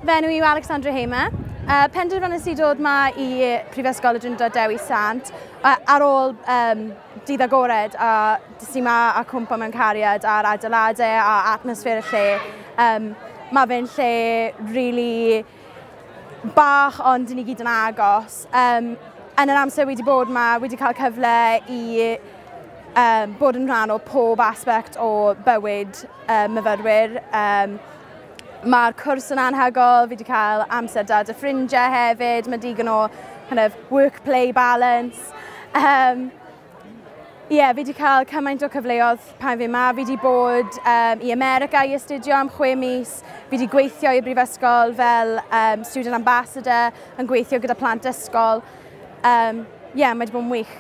Fy enw i yw Alexandra Hamer. Penderfynais i dod ma i Prifysgol y Drindod Dewi Sant ar ôl dydd agored a des i ma a cwmpo mewn cariad â'r adeiladau a atmosffer y lle. Mae fe'n lle really bach ond ni gyd yn agos. Yn yr amser wedi bod ma, wedi cael cyfle i bod yn rhan o pob aspect o bywyd myfyrwyr. Mae'r cwrs yn anhygoel, fi wedi cael amser da 'da ffrindiau hefyd, mae digon o kind of work-play balance. Yeah, fi wedi cael cymaint o cyfleoedd pan fi yma. Fi wedi bod i America i astudio am 6 mis. Fi wedi gweithio i'r brifysgol fel student ambassador, yn gweithio gyda plant ysgol. Yeah, mae wedi bod yn wych.